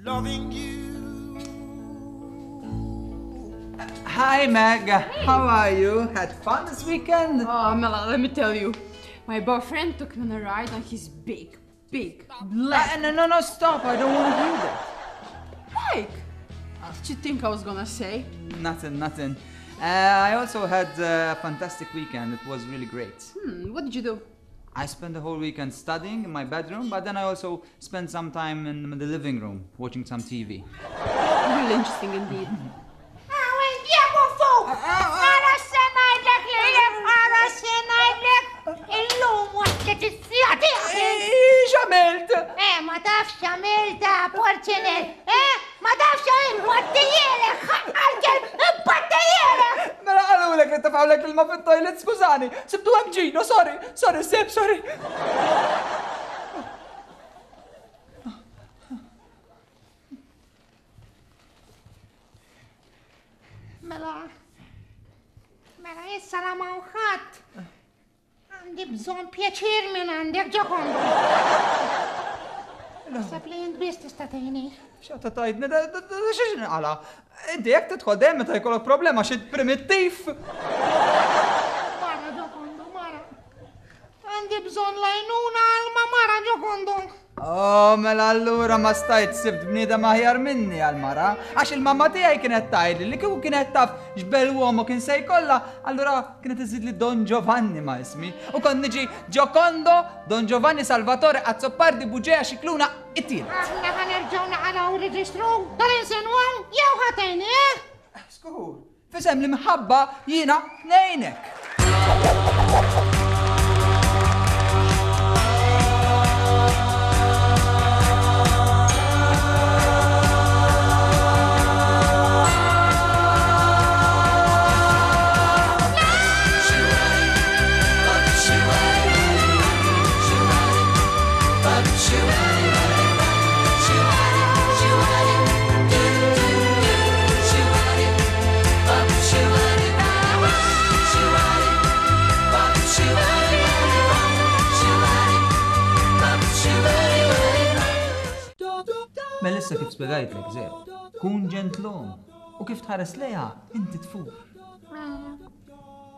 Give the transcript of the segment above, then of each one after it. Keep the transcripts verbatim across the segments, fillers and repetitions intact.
Loving you. Hi Meg, hey. How are you? Had fun this weekend? Oh, Mela, let me tell you. My boyfriend took me on a ride on his big, big black... Uh, no, no, no, stop. I don't want to hear that. Mike, what did you think I was gonna say? Nothing, nothing. Uh, I also had a fantastic weekend. It was really great. Hmm, what did you do? I spent the whole weekend studying in my bedroom, but then I also spent some time in the living room watching some T V. Really interesting indeed. X'għamilt? Eh, ma tafx x'għamilt porċinel, eh? Ma tafx x'għamilt, battejjelek, ħaqqal battejjelek! Mela qalulek li tefgħulek l-ilma fit-toilet, skużani, sibtu hemm Gino, sorry, sorry, Seb, sorry. Mela, mela issa la ma ħadd. Għandi bżonn pjaċir minn għandek, Giocondo. Naħseb li int biss tista' tgħinni. X'għadha tgħidni, da xiex nqala? Inti jekk tidħol dejjem meta jkollok problema xi primittiv. Mara, Giocondo, mara. Għandi bżonn lajnuna għal ma mara, Giocondo. Oh, mela allura ma stajt sibt bniedem aħjar minni għal-mara, għax il-mamma tiegħi kienet tgħidli li kieku kienet taf x'bel uomo kien se jkollha, allura kienet iżidli Don Giovanni ma' ismi. U kont niġi Giocondo, Don Giovanni Salvatore Azzopardi Buġea Xikluna it-tielet. Aħna ħa nerġgħu naqalgħu reġistru tal-insinwaw jew ħatejni, eh? Skur, fisem li mħabba jiena ngħinek. Melissa kif spjegajtlek, Zeb, kun ġentlom u kif tħares lejha inti tfur.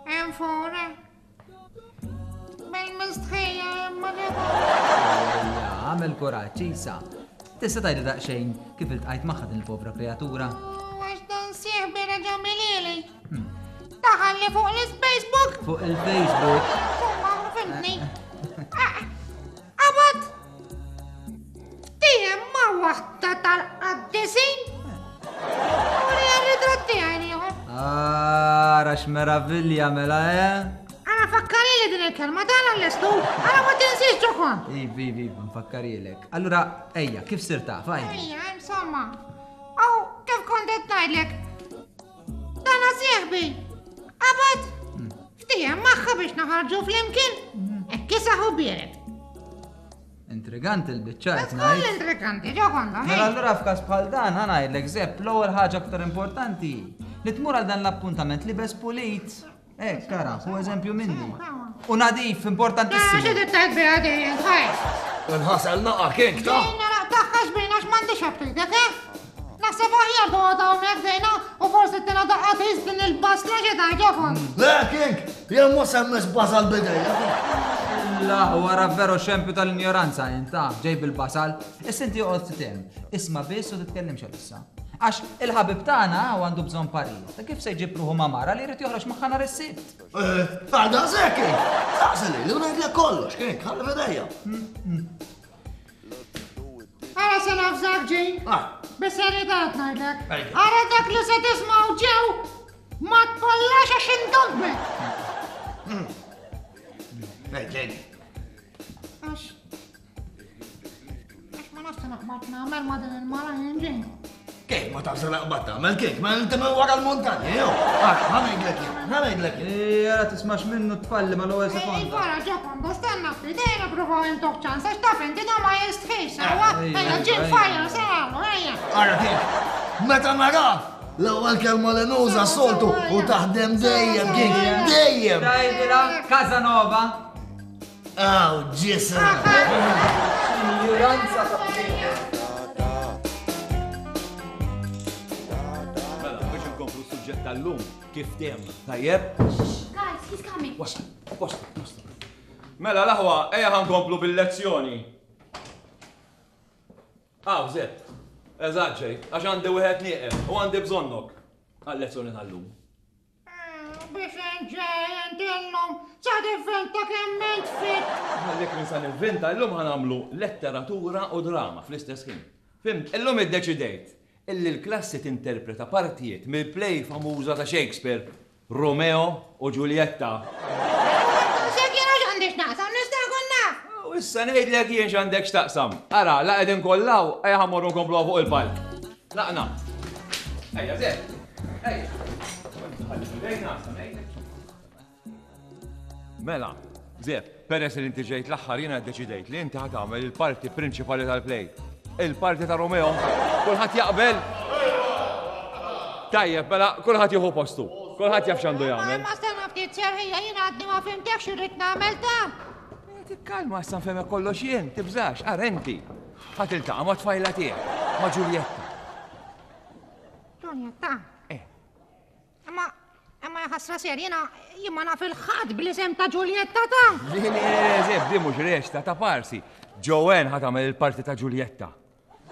Hemm fura. Bil-mistħija imma Ejja, għamel kuraġġ, Isa. Tista' tgħidli daqsxejn kif iltqajt magħha din il-povra kreatura? Għax dan sieħbi reġa' milili. Daħalli fuq il-Facebook. Fuq il-Facebook. Insomma, fimtni. Qabad! Tijem ma' waħda tal-qaddisin. U li għal-ritratti tiegħi ieħor. Ara x'meravilja mela, eh? Ara fakkarilli din il-kelma dan għall-estu. Ara ma tinsiex Ġokon. Ivi, ivi, nfakkarilek. Allura, ejja, kif sirt taf, għajdi? Ejja, insomma. Aw, kif kont qed ngħidlek? Dana sieħbi. Qabad! Ftiehem magħha biex naħarġu flimkien. Hekk isaħu biered. Intriganti l-biċċa qed Tkun ngħid. intriganti, Giocondo. Mela allura f'każ bħal dan ħa ngħidlek Zepp, l-ewwel ħaġa aktar importanti li tmur għal dan l-appuntament li bes pulit. Eh, kara, hu eżempju minni. U nadif, importantissimu. Xi tittajt biha dejjem, ħaj. Nħasel naqa' kink ta' Dejna laqtaħħax bejna x'm'għandix aptitek, eh? Naħseb aħjar toqgħod hawnhekk dejna u forsi tina daqqa tgħis din il-basla xi tgħid Ġokon. Le kink, jien mhux semmis basal bidejja. La, wara veru xempju tal-ignoranza inta, ġej bil-basal. Issa inti oqgħod titem, isma' biss u titkellimx għalissa. Għax il-ħabib tagħna u għandu bżonn parir. Ta' kif se jġib ruħu ma' mara li jrid joħroġ magħha nhar is-Sibt? Eh, għal daqshekk kink. Saqsili li ngħidlek kollox kink, ħalli f'idejja. Ara se nafżak ġej. Ah. Bis-serjetà qed ngħidlek. Ejja. Ara dak li se tismgħu ġew ma tpollax għax indobbek. Ej, ġej. Għax għax ma nafx naqbad nagħmel ma' din il-mara jien ġej. Kif ma tafx naqbad tagħmel kif? Ma inti minn wara l-muntanja, jew. Ara, ħa ngħidlek jien, ħa ngħidlek jien. Ej, ara tismax minnu tfalli mal-ewwel Ej, sekonda. wara Giocondo, stenna ftit, ejja nippruvaw intuh ċans, għax taf inti da ma jistħix, sewwa? Ejja, Ejja, ġim ejja. fire, sewwa, ejja. Ara kif, meta nara l-ewwel kelma li nuża s-soltu u taħdem dejjem kif, dejjem. Dajdila, Casanova. Aw, ġisem. Ignoranza ta' is-suġġett tal-lum kif tem. Tajjeb? Guys, he's coming. Wasla, wasla, wasla. Mela, l-aħwa, ejja ħa nkomplu bil-lezzjoni. Aw, Zeb, eżatt ġej, għax għandi wieħed nieqes u għandi bżonnok għal-lezzjoni tal-lum. Biex nġej, inti llum, sa tivvinta kemm int fit. Għallik minn sa nivvinta, llum ħa nagħmlu letteratura u drama fl-istess ħin. Fhimt, illum iddeċidejt illi l-klassi tinterpreta partijiet mill-play famuża ta' Shakespeare, Romeo u Giulietta. Sek jiena x'għandi x'naqsam, nista' nkun naf. U issa ngħidlek jien x'għandek x'taqsam. Ara, la qegħdin kollaw, ejja ħa mmorru nkompluha fuq il-palk. Laqna. Ejja, Zeb. Ejja. Mela, Zeb, peress li inti ġejt l-aħħar jiena ddeċidejt li inti ħa tagħmel il-parti prinċipali tal-play. Il-parti ta' Romeo. Kulħadd jaqbel? Tajjeb, mela, kulħadd jieħu postu. Kulħadd jaf x'għandu jagħmel. Ma stenna ftit serħija jiena għadni ma fhimtekx x'irrid nagħmel ta'. Tikkalma, issa nfehmek kollox jien, tibżax, ara inti. Ħa tiltaqa' ma' tfajla tiegħek, ma' Giulietta. Giulietta? Eh. Imma imma ħasra ser jiena jien ma naf il-ħadd bl-isem ta' Giulietta ta'. Le, le, le, Zeb, di mhux reċta ta' parsi. Joanne ħa tagħmel il-parti ta' Giulietta.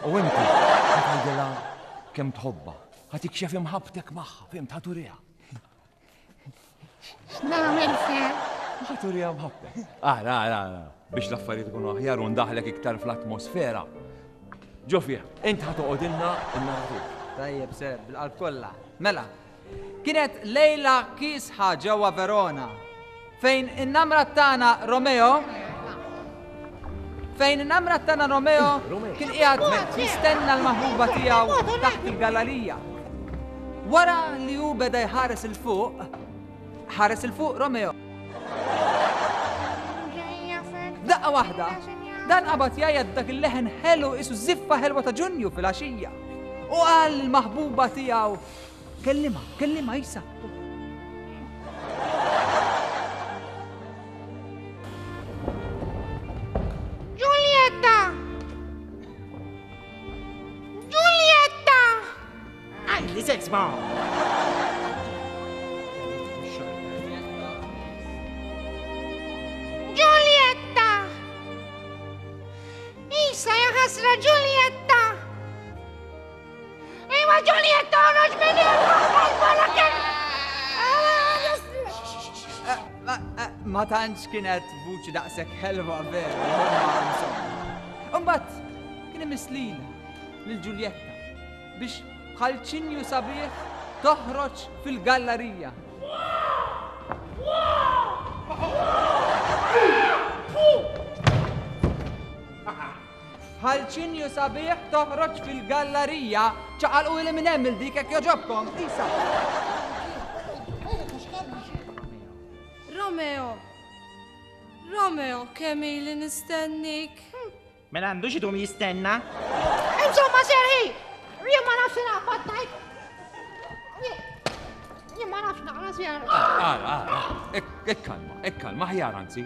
U inti ħa tgħidilha kemm tħobbha. Ħa tikxef imħabbtek magħha, fhimt, ħa turiha. X'nagħmel ser? Ħa turiha mħabbtek. Ara, ara, ara, biex l-affarijiet ikunu aħjar u ndaħlek iktar fl-atmosfera. Ġo fih, int ħa toqgħodilna n-narratur. Tajjeb, ser, bil-qalb kollha. Mela, kienet lejla kiesħa ġewwa Verona, fejn in-namra tagħna Romeo, fejn in-namra tagħna Romeo kien qiegħed jistenna l-maħbuba tiegħu taħt il-gallerija. Wara li hu beda jħares il fuq, ħares il fuq Romeo. Daqqa waħda, dan qabad jgħajjat dak il-leħen ħelu isu żiffa ħelwa ta' Ġunju fil-għaxija. U qal l-maħbuba tiegħu, kellima, kellima isa. Giulietta! Giulietta! Għajli sex bomb! Giulietta! Isa ja ħasra Giulietta! Iwa Giulietta, oħroġ minn hemm! Ma tantx kienet vuċi daqshekk ħelwa veru, imma insomma. Imbagħad kien imiss lilha lil Giulietta biex bħal ċinju sabiħ toħroġ fil-gallerija. Bħal ċinju sabiħ toħroġ fil-gallerija, ċaqalqu li minn hemm il-dik hekk joġobkom, isa. Romeo, Romeo, kemm ili nistennik. Mela għandux idum jistenna. Insomma, serħi, jien ma nafx naqbad ngħid. Jien ma nafx naqra ser. Ara, ara, ikkalma, ikkalma, aħjar anzi.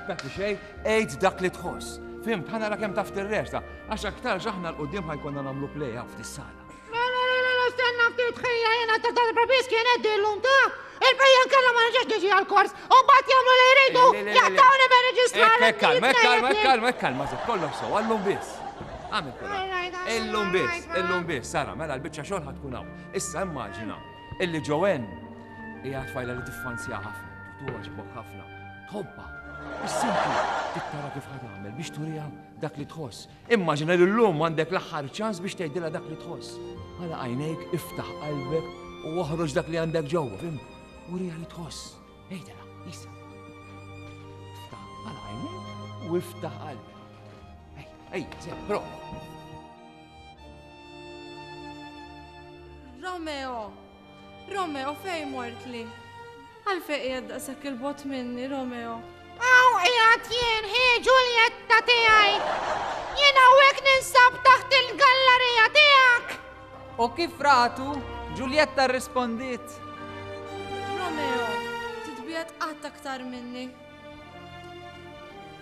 Dak li xejn, għid dak li tħoss. Fhimt, ħa nara kemm taf tirreċta, għax aktarx aħna 'l quddiem ħa jkollna nagħmlu play hawn f'dis-sala. Le, le, le, le, le, stenna ftit ħija jiena ta' darba biss kienet dillum ta' il-bejja nkella ma nerġax niġi għall-kors u mbagħad jagħmlu li jridu, Le, le, le, le. jaqtawni me reġistrar. Ekk, ekk, kalma, ekk, kalma, ekk, kalma, ekk, kalma, Zeb, kollox sew, għallum biss. Għamil kuraġġ. All right, all right, Illum biss, all right, illum biss, Sara, mela l-biċċa xogħol ħa tkun hawn. Issa immaġina illi Joanne hija tfajla li tiffanzja ħafna, togħġbok ħafna, tħobbha. Issa inti tittara kif ħa tagħmel biex turiha dak li tħoss. Immaġina li llum għandek l-aħħar ċans biex tgħidilha dak li tħoss. Għala għajnejk, iftaħ qalbek u oħroġ dak li għandek ġewwa, fim? Uriha li tħoss. Għidilha, isa. Iftaħ għala għajnejk u iftaħ qalbek. Ej, ej, Zeb, prova. Romeo, Romeo, fejn mort li? Għalfejn qiegħed daqshekk il-bogħod minni, Romeo? Aw, qiegħed jien, hi Giulietta tiegħi. Jien hawnhekk ninsab taħt il-gallerija tiegħek. U kif ratu, Giulietta rrispondiet. Romeo, titbiegħed qatt aktar minni.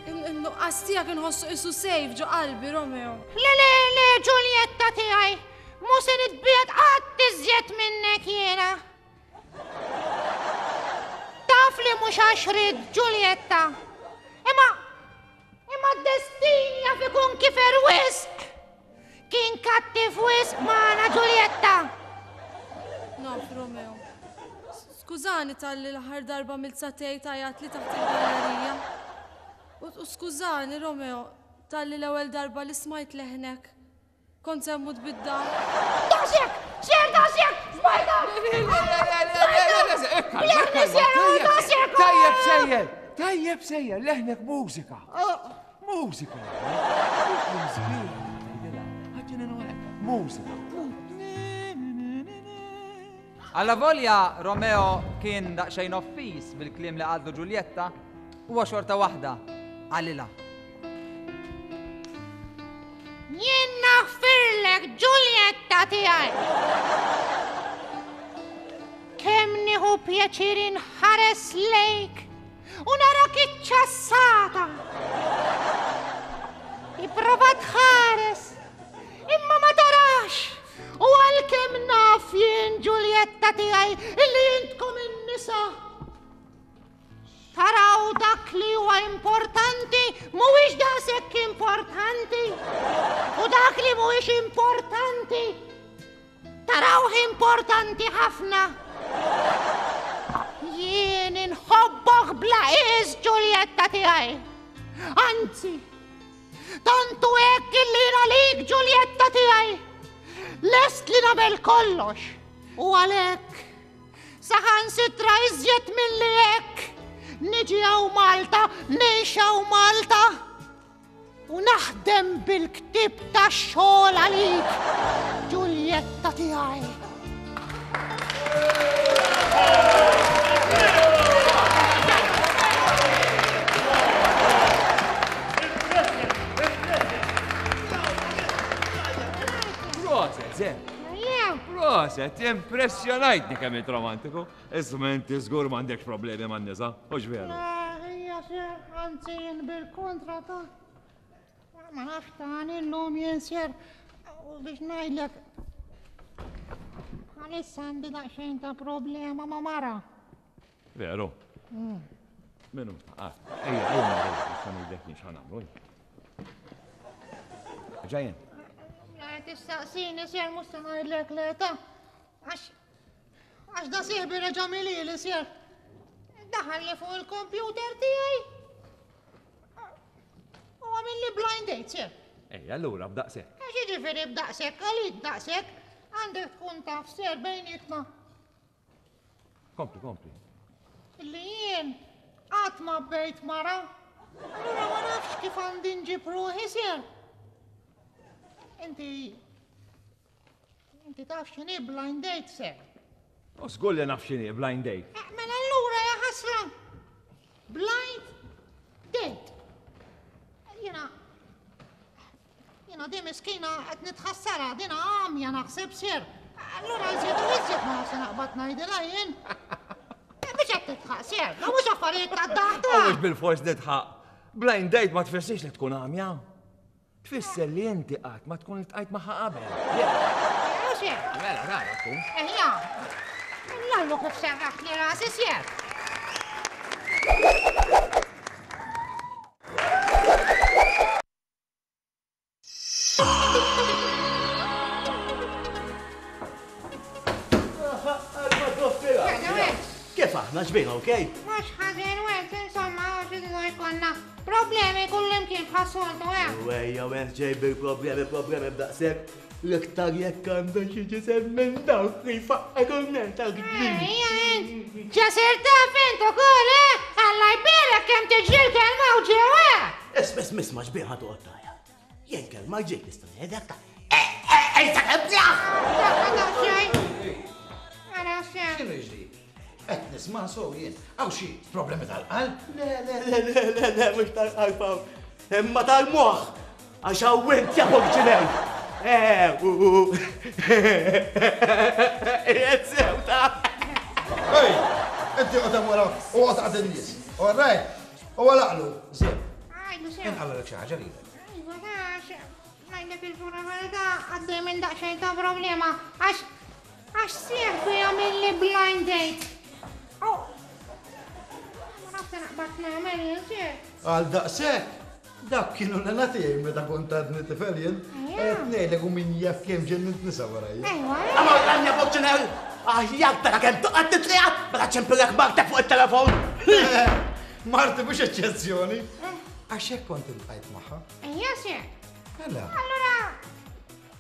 In-nuqqas tiegħek inħossu qisu sejf ġo qalbi, Romeo. Le, le, le, Giulietta tiegħi, mhu se nitbiegħed qatt iżjed minnek jiena. Naf li mhux għax ridt Ġuljetta. Imma imma d-destin jaf ikun kifer wisq. Kien kattiv wisq magħna Ġuljetta. Naf, Romeo. Skużani talli l-aħħar darba mill-satej tajat li taħt il-gallerija. U skużani, Romeo, talli l-ewwel darba li smajt leħnek. Kont se mmut bid-daħk. Daqshekk! Sir, daqshekk! Smajta! Tajjeb sejjer! Tajjeb sejjer! Leħnek mużika! Mużika! Mużika! Alla volja Romeo kien daqsxejn offiż bil-kliem li qaltlu Ġuljetta, huwa xorta waħda qalilha. Jien naħfirlek Ġuljetta tiegħi. Kemm nieħu pjaċir inħares lejk u narak iċċassata. Ipprova tħares, imma ma tarax. U għalkemm naf jien Ġuljetta tiegħi illi intkom in-nisa. Taraw dak li huwa importanti mhuwiex daqshekk importanti. U dak li mhuwiex importanti tarawh importanti ħafna. Jien inħobbok bla qies Ġuljetta tiegħi. Anzi, tantu hekk illi jien għalik Ġuljetta tiegħi. Lest li nagħmel kollox. U għalhekk saħansitra iżjed milli hekk niġi hawn Malta, ngħix hawn Malta u naħdem bil-ktieb tax-xogħol għalik, Ġuljetta tiegħi. Proset, Zem. Proset, impressjonajtni kemm int romantiku. Isma' inti żgur m'għandekx problemi man-nisa, hux veru? Ejja, sir, anzi jien bil-kontra ta' ma nafx tani llum jien sir u biex ngħidlek bħalissa għandi daqsxejn ta' problema ma' mara. Veru? Minu? Ah, ejja, ejja, nista' ngħidlek jien x'ħa nagħmlu. Ġajjen. Tistaqsini sir mhux se ngħidlek le ta' għax għax da sieħbi reġa' milili sir. Daħal li fuq il-kompjuter tiegħi u għamilli blind date sir. Ej, allura b'daqshekk. Għax jiġifieri b'daqshekk, għalik daqshekk, għandek tkun taf sir bejnietna. Kompli, kompli. Illi jien qatt ma bejt mara, allura ma nafx kif għandi nġib ruħi sir. Inti, inti taf x'inhi blind date sir? U żgur li naf x'inhi blind date. Eh, mela allura ja ħasra. Blind date. Jiena, jiena di miskina qed nitħassarha, dina għamja naħseb sir. Allura iżjed u iżjed ma nafx naqbad ngħidilha jien. Biex qed titħaq sir, ma mhux affarijiet tad-daħta. U mhux bil-fors nitħaq. Blind date ma tfissirx li tkun għamja. Tfisser li inti qatt ma tkun iltqajt magħha qabel. Sir. Mela, rara tkun. Ejja. Lallu kif serraħt li rasi sir. Kif aħna ġbina, okej? Mhux ħażin went, insomma, għax idu jkollna problemi kullimkien bħas-soltu, eh? Wejja, went ġej bil-problemi, problemi b'daqshekk. L-iktar jekk għandha xi ġisem minn dawk li jfaqqek u ta' kbir. Ejja, int, ġasir taf int ukoll, eh? Alla jbierek kemm tiġri l-kelma u ġew, eh? Isma' isma' isma' ġbir ħa toqgħod tajja. Jien kelma ġejt nista' ngħidlek ta' ej ta' ebda! X'inhu jiġri? Qed nisma' sew jien. Hawn xi problemi tal-qalb? Le, le, le, le, le, le, mhux tal-qalb hawn. Imma tal-moħħ. Għax hawn int jafok ġinew. Eh, u, u. Qiegħed sew ta' Ej, inti qgħod hemm wara u qgħod għad in-nies. All right. U għalaqlu, żieb. Għajdu sew. Inqalgħalek xi ħaġa lilek. Iva, għax, ngħidlek il-pura verità, għaddej minn daqsxejn ta' problema, għax għax sieħbi jagħmilli blind date. U se naqbad nagħmel jien sir. Għal daqshekk, dak kienu l-għana tiegħi meta kont għadni tifel jien. Qed ngħidlek u min jaf kemm ġennint nisa warajja. Ejwa. Amor, għanja Puċċinell, aħjar tara kemm toqgħod titliegħat meta ċempillek martek fuq it-telefon. Marti mhux eċċezzjoni. Għax hekk kont iltqajt magħha. Ejja sir. Mela. Allura,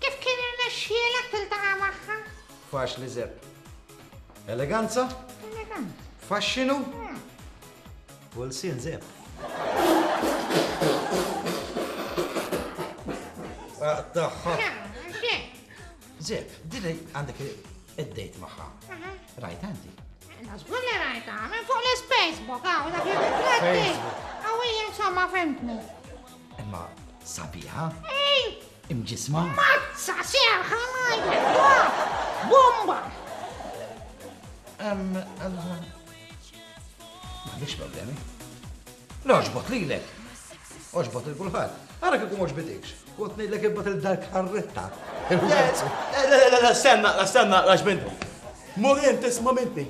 kif kien irnexxielek tiltaqa' magħha? Faċli Zepp. Eleganza? Eleganza. Faxxinu? U l-sin Zepp. Tagħha. Zepp, dili għandek id-dejt magħha. Rajt għandi. Żgur li rajta, minn fuq l-Facebook, għaw, dak il-ritratti. Għaw, insomma, fimtni. Imma sabiħa? Ej! Imġisma? Mazza, serħa, ngħidlek, bomba! Em, allora. M'għandix problemi. L-oġbot lilek. Oġbot il kulħadd. Ara kieku m'għoġbitikx. Kont ngħidlek ibbat il-dar karretta. Le, le, le, le, stenna, stenna, għax mintu. Mur int isma' minti.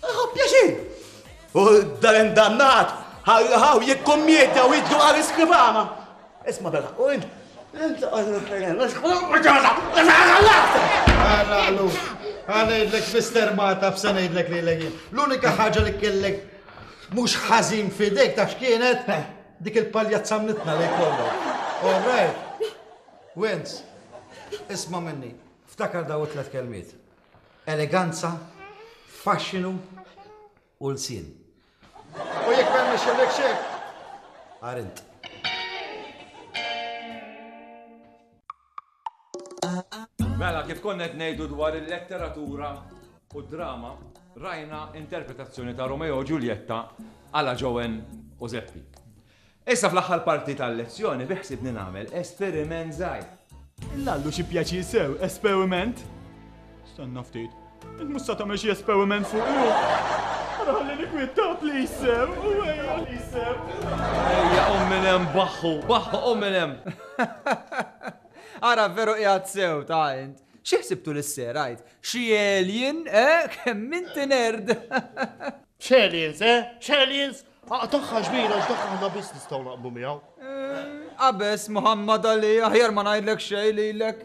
Ħa pjaċir. U dan indannat, ħaw jikkommedja u jiddu għal iskribana. Isma' bella, u int. Int Għallu, għanajdlek Mister Mata f'sa ngħidlek li l L-unika ħaġa li kellek mhux ħażin f'idejk taf x'kienet dik il-paljazza mnitna li jkollok. All right. Wens, isma' minni, ftakar daw it-tlet kelmiet. Eleganza, faxxinu u lsien. U jekk ma jmexxilek xejn, għarint. Mela, kif konna qed ngħidu dwar il-letteratura u d-drama, rajna interpretazzjoni ta' Romeo u Giulietta għala Joan u Zeppi. Issa fl-aħħar parti tal-lezzjoni biħsibni nagħmel esperiment żgħir. Lallu xi pjaċir sew, esperiment. Stanna ftit. Int mhux sa tagħmel xi esperiment fuq ju. Ara ħalli nikwitta please sew, u ejja please sew. Ejja qum minn hemm baħħu, baħħu qum minn hemm. Ara veru qiegħed sew ta' int. Xi ħsibtu l-serajt? Xi alien, eh? Kemm inti nerd. X'aliens, eh? X'aliens? Tagħha ġbira, x'dak aħna biss nistgħu naqblu miegħu. Qabes Muhammad Ali, aħjar ma ngħidlek xejn lilek.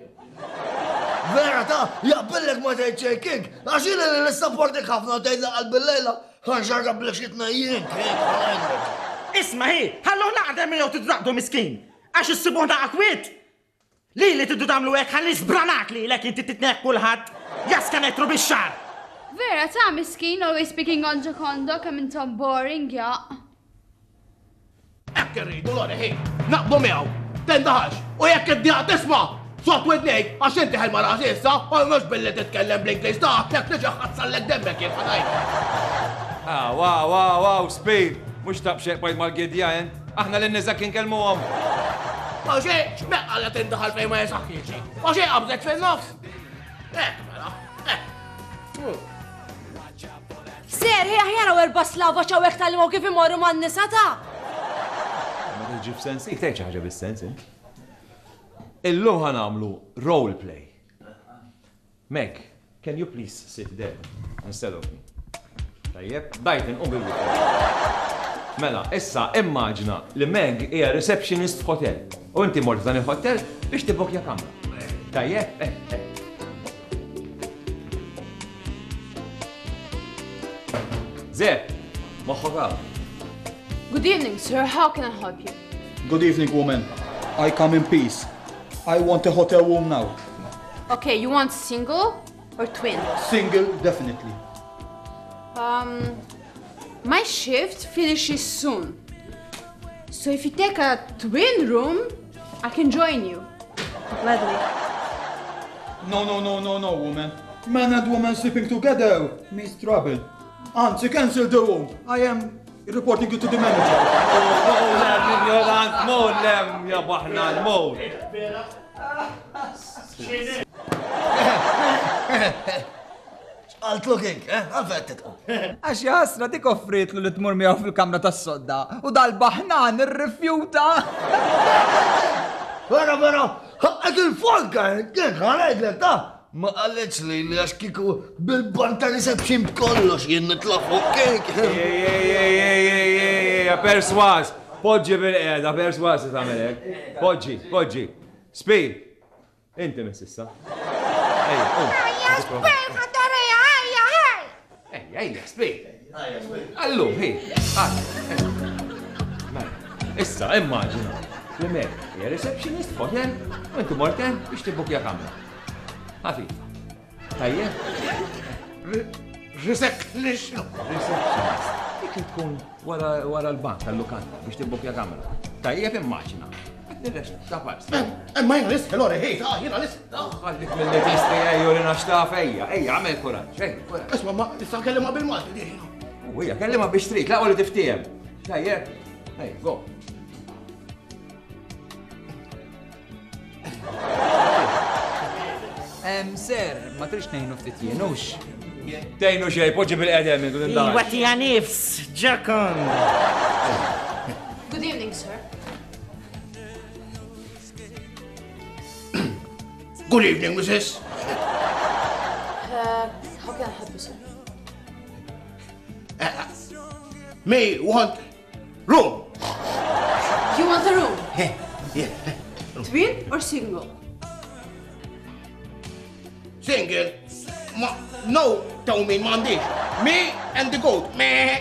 Vera ta' jaqbillek ma tgħid xejn King, għax jiena li nissapportik ħafna tgħid laqal bil-lejla, ħanxarka blek xi tnejjin, King, ħa ngħidlek. Isma' hi, ħallu naqdem jew tidraqdu miskin, għax issibuh naqa kwiet. Li li tiddu tagħmlu hekk ħalli żbranak li lek inti titnek kulħadd, jaska netru bix-xar. Vera ta' miskin, always speaking on Giocondo, kemm intom boring, ja. Hekk irridu Lori ħi, naqblu miegħu. Tendaħax, u jekk id-dieqa tisma' sot widnejk għax inti ħel ma rasi issa, u mhux billi titkellem bl-Ingliż ta' jekk niġi ħassallek demmek jien ħa ngħid. Ah, wow, wow, wow, speed. Mhux tabxek bajt mal-gidja, int. Aħna lin-nisa kien kelmuhom. Ma xejn, x'meqqa li tindaħal fejn ma jesaħħiex. Ma xejn qabżet fin-nofs. Hekk mela, hekk. Ser, hija aħjar hawn erba' slava ċawek tal-imgħu kif imorru man-nisa ta' Ma tiġi f'sens, ik tgħid xi ħaġa bis-sens, int. Illum ħa nagħmlu role play. Meg, can you please sit there instead of me? Tajjeb, dajtin, qum bil Mela, issa immaġina li Meg hija receptionist f'hotel. U inti mort f'dan il-hotel biex tibokja kamra. Tajjeb, eh, eh. Ze, moħħok hawn. Good evening, sir. How can I help you? Good evening, woman. I come in peace. I want a hotel room now. Okay, you want single or twin? Single, definitely. Um, my shift finishes soon. So if you take a twin room, I can join you. Gladly. No, no, no, no, no, woman. Man and woman sleeping together means trouble. Anzi, cancel the room. I am reporting you to the manager. Mur lem, ignorant, mur lem, ja baħna, mur. X'qaltlu King, eh? Għalfejn titqu. Għax jaħasra dik offritlu li tmur miegħu fil-kamra tas-sodda u dal-baħnan irrifjuta. Vera, vera, ħaqqek il-folka, King, ħa ngħidlek ta' Ma qalitx li li għax kieku bil-bar ta' reception b'kollox jien nitla' fuq kejk. Ej, ej, ej, ej, ej, ej, perswas. Poġġi bil-qiegħda, perswas li tagħmel hekk. Poġġi, poġġi. Spi, inti miss issa. Ejja, qum. Ejja, Spi, ħatorija, ejja, ej! Ejja, ejja, Spi. Allum, hi, għad. Mela, issa, immaġina li Mary hija receptionist f'hotel u inti mort hemm biex tibbukja kamra. Ħafifa. Tajjeb? Receptionist. Receptionist. Dik li tkun wara wara l-bank tal-lukanda biex tibbukja kamra. Tajjeb immaġina. Qed nirrexta ta' pars. Imma jiena nisħi Lori, ħej, ta' jiena nisħi. Ħallik mill-li tistri ejju li naxtaf ejja, ejja, għamel kuraġġ, ejja, kuraġġ. Isma' ma nista' nkellimha bil-Malti di jiena. U hija, kellimha biex trid, laqwa li tiftiehem. Tajjeb, ejja, go. Em, sir, ma trix ngħinu ftit jien, hux? Tgħinu xejn, poġġi bil-qedem minn dun Iwa tija nifs, ġakon. Good evening, sir. Good evening, missus. Uh, how can I help you, sir? Me want room. You want a room? Yeah. Twin or single? Single. Ma, no, tell me, m'għandix. Me and the goat. Me.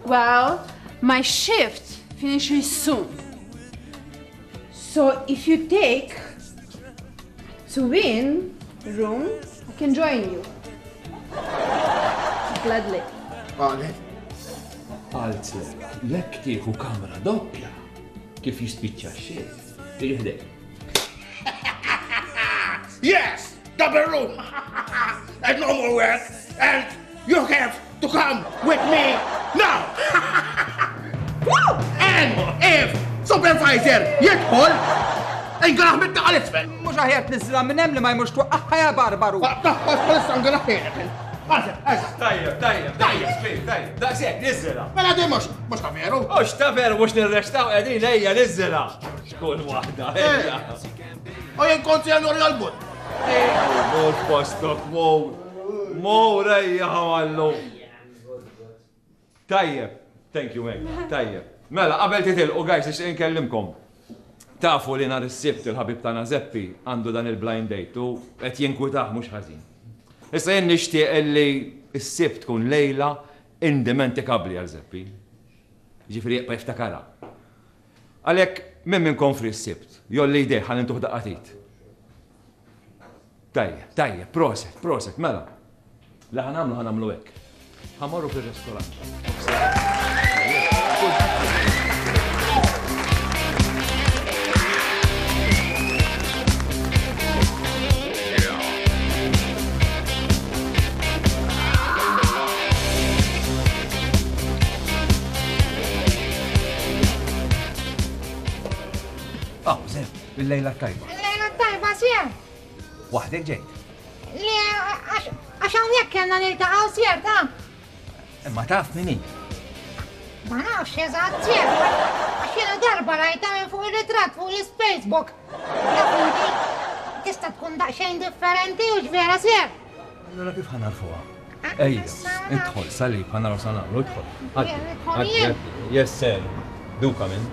Well, my shift finishes soon. So if you take twin room, I can join you. Gladly. Għalet. Għalzler, jekk tieħu kamra doppja, kif jispiċċa x-xift, tiġi ħdejk. Yes, double room. And no more work. And you have to come with me now. And if supervisor jidħol, ingraħ mit taqal isfel. Mhux aħjar tniżżilha minn hemm li ma jmurx twaqqaħħa ja Barbaru. Taħħas bħalissa ngraħ ħienek. Għażel, għażel. Tajjeb, tajjeb, tajjeb, Spi, tajjeb. Daqshekk, niżżilha. Mela di mhux mhux ta' veru. Mhux ta' veru, mhux nirrestaw qegħdin ejja niżżilha. Xkun waħda, ejja. U jien kont se nuri għal-but. Mur postok, mur. Mur ejja ħawallu. Tajjeb, thank you, mate. Tajjeb. Mela, qabel titilqu, guys, nixtieq inkellimkom. Tafu li nhar is-Sibt il-ħabib tagħna Zeppi għandu dan il-blind date u qed jinkwitah mhux ħażin. Issa jien nixtieq illi s-Sibt tkun lejla indimentikabbli għal Zeppi. Ġifieri jibqa' jiftakarha. Għalhekk min minnkom fri s-Sibt, jolli jdejh ħalli ntuh daqqatit. Tajjeb, tajjeb, proset, proset, mela. Li ħa nagħmlu ħa nagħmlu hekk. Ħa mmorru fir-restorant. Ah, Zef, il-lejla tajba. Il-lejla tajba, sir. Waħdek ġejt. Le, għax hawnhekk kellna niltaqgħu, sir, ta' Imma taf min hi? Ma nafx eżatt, sir. Għax jiena darba rajta minn fuq ir-ritratt fuq l-Facebook. Taf inti, tista' tkun daqsxejn differenti u x'vera, sir. Allura kif ħa narfuha? Ejja, idħol, salib, ħa naraw sa nagħmlu, idħol. Għaddi, Idħol għaddi, jien. għaddi. Yes, sir. Do come in.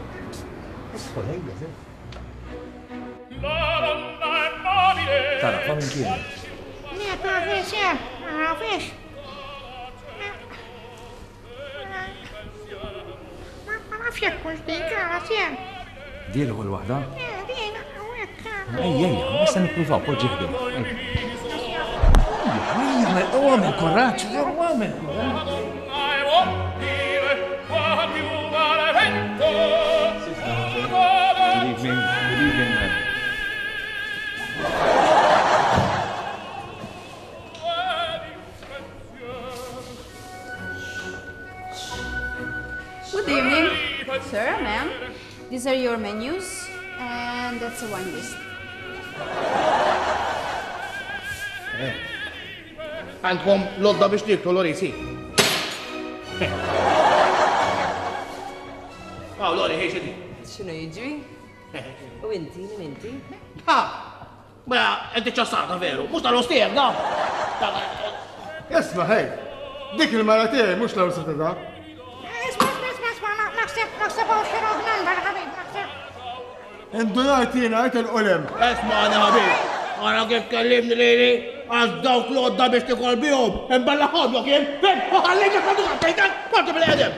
Idħol, ejja, sir. Tara, fa' minn kien. Le, tafix, sir, ma nafix. Ma nafx jekk hux dik, ara, sir. Di l-ewwel waħda? Eh, din, hawnhekk. Ejja, ejja, issa nippruvaw, poġġi ħdejha. Ejja, ejja, u għamel kuraġġ, u għamel kuraġġ. Good evening, good evening, ma'am. Good evening, sir, ma'am. These are your menus, and that's a wine list. Għandkom lodda biex tiklu, Lori, si. Aw, Lori, ħej xedi. X'inhu jiġri? U inti, min inti? Ha! Mela, inti ċassata veru, mhux tal-ostier, da. Isma' ħej, dik il-mara tiegħi mhux l-awsata da. Isma', isma', isma', isma', naħseb, naħseb hawn xi wrong number, ħabib, naħseb. Indunajt jiena għajt il-qolem. Isma' għana ħabib, għara kif kellimni lili, għax dawk l-għodda biex tikol bihom, imballa ħodlok jien, fim, u ħallejt il-ħadu għattejtek, parti bil-qedem.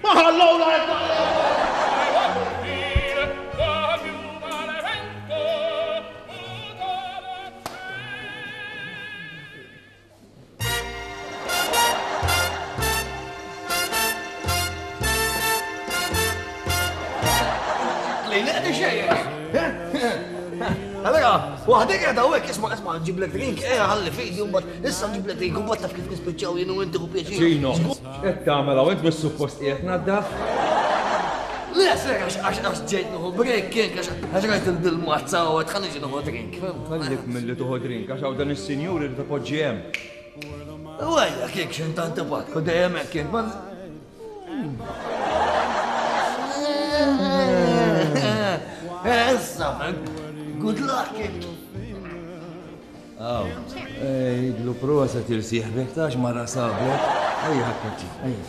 Ma ħallowna Allora, waħdek qiegħda hawnhekk isma' isma' nġiblek drink, eh ħalli fidi u mbagħad issa nġiblek drink u mbagħad taf kif nispiċċaw jien u inti u pjaċir. Ġino, x'qed tagħmel hawn int mis-suppost qiegħed naddaf? Le, ser għax għax għax ġejt nieħu break kien għax għax rajt il-mazza u qed ħalli nieħu drink. Ħallik milli tieħu drink għax hawn dan is-sinjur irid ipoġġi hemm. Wejja kien x'int antipatku dejjem hekk kien. Issa, good luck. Aw, idlu prosa tirsieħbek tax mara sablek. Ejja ħakkuti, ejja.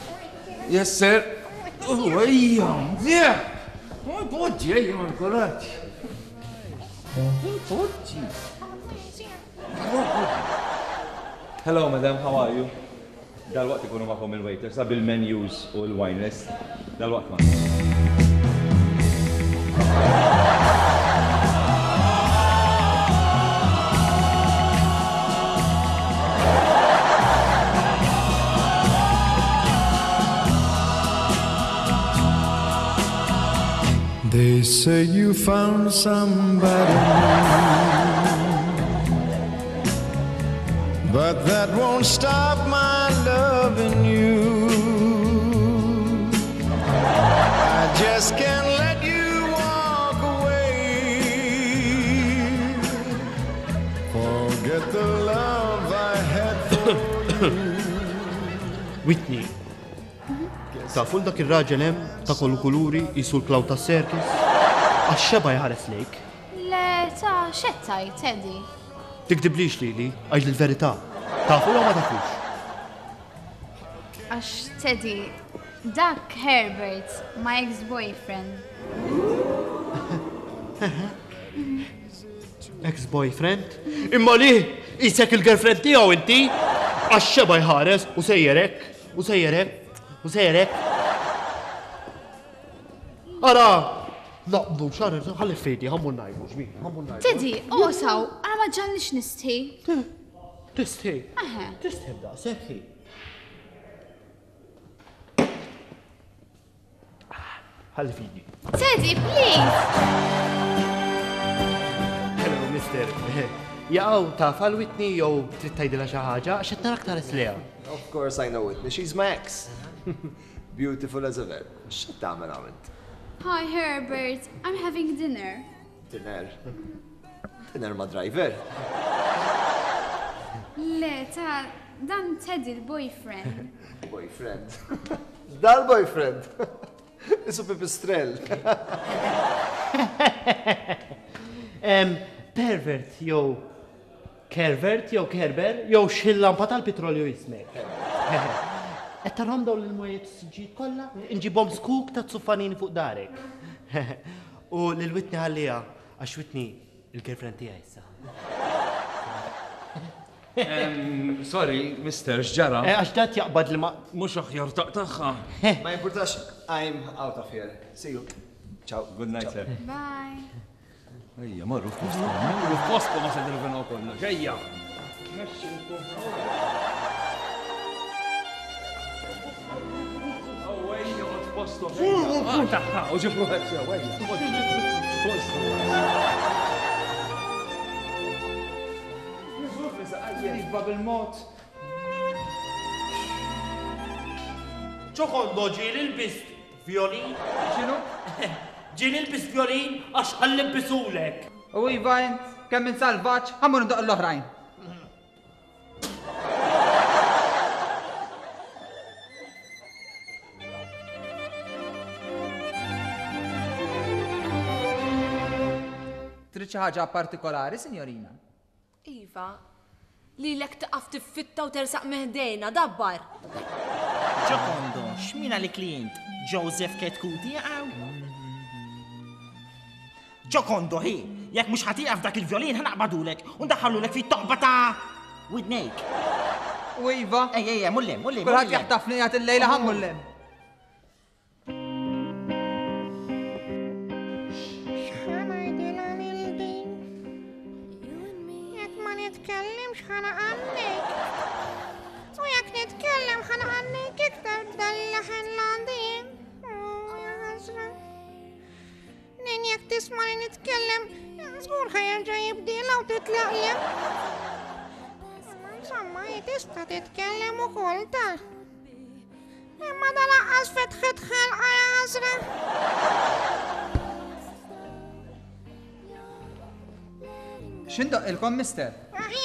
Yes, sir. Ejja, yeah. Poġġi, ejja, ma kuraġġ. Poġġi. Hello, madam, how are you? Dal-waqt ikunu magħkom il-waiters, bil-menus u l-wine list. Dal-waqt ma. They say you found somebody new, but that won't stop my loving you. I just can't let you walk away. Forget the love I had for you. Whitney, tafu dak ir-raġel hemm ta' kollu kuluri jisu l-klaw ta' serkis? Għax xeba jħares lejk. Le, ta' xettaj, Teddy. Tikdiblix lili, għax l-verità. Tafu jew ma tafux? Għax Teddy, dak Herbert, my ex-boyfriend. Ex-boyfriend? Imma li, jisek il-girlfriend tiegħu inti? Għax xeba jħares u sejjerek, u sejjerek, u sejjerek. Ara, naqbdu xar, ħalli fejdi, ħammu najbu, ġmi, ħammu najbu. Teddy, oh saw, ara ma ġallix nistħi. Tistħi? Aha. Tistħi b'daqshekk. Ħalli fidi. Teddy, please! Hello, mister. Jaqaw, taf għal Whitney jew trid tgħidilha xi ħaġa għax qed narak tħares lejha. Of course I know Whitney, she's my ex. Beautiful as ever. X'qed tagħmel hawn int? Hi Herbert, I'm having dinner. Dinner? Dinner ma' driver? Le, ta' dan Teddy l-boyfriend. Boyfriend? Dal-boyfriend? Isu pipistrell. Pervert jew kervert jew kerber jew xil-lampa tal-petrolju jismek. Qed tarhom dawn l-mwiet siġġiet kollha? Inġibhom skuk ta' tuffanini fuq darek. U lil Whitney ħalliha għax Whitney il-girlfriend tiegħi issa. Sorry, mister, x'ġara? Għax dat jaqbad li ma. Mhux aħjar taqtagħha. Ma jimpurtax, I'm out of here. See you. Ciao. Good night, sir. Bye. Ejja, marru f'poskom, marru f'poskom ma se dirvinaw kollox. Ejja. Ejja, f'postom. Taħħa, u ġibru hekk sew, ejja. Iva bil-mod. Ċokondo ġieli l-bist violin? X'inhu? Ġieli l-bist violin għax ħallimbisulek. U iva int, kemm minn salvaġġ, ħammur ndoq l-oħrajn. Trid xi ħaġa partikolari, signorina? Iva, lilek taqaf tiffitta u tersaq meħdejna, dabbar. Giocondo, x'mina li klient? Joseph Ketkuti għaw? Giocondo, hi, jekk mhux ħatiqaf dak il-violin ħanaqbadulek u ndaħħalulek fit-toqba ta' widnejk. U iva. Ej, ej, mullem, mullem. Kulħadd jaħtafni jgħat il-lejla ħa mullem. X'ħanajdilha lil din? Jekk ma nitkellimx ħanaqannik. U jekk nitkellem ħanaqannik iktar b'dal-leħen l-għandin. U ja ħasra. Nin jekk tisma' li nitkellem, żgur ħajerġa' jibdilha u titlaqlem. Imma insomma, hi tista' titkellem ukoll ta'. Imma dal-aqqas fetħet ħalqa ja ħasra. X'indoq ilkom, mister? Aħjar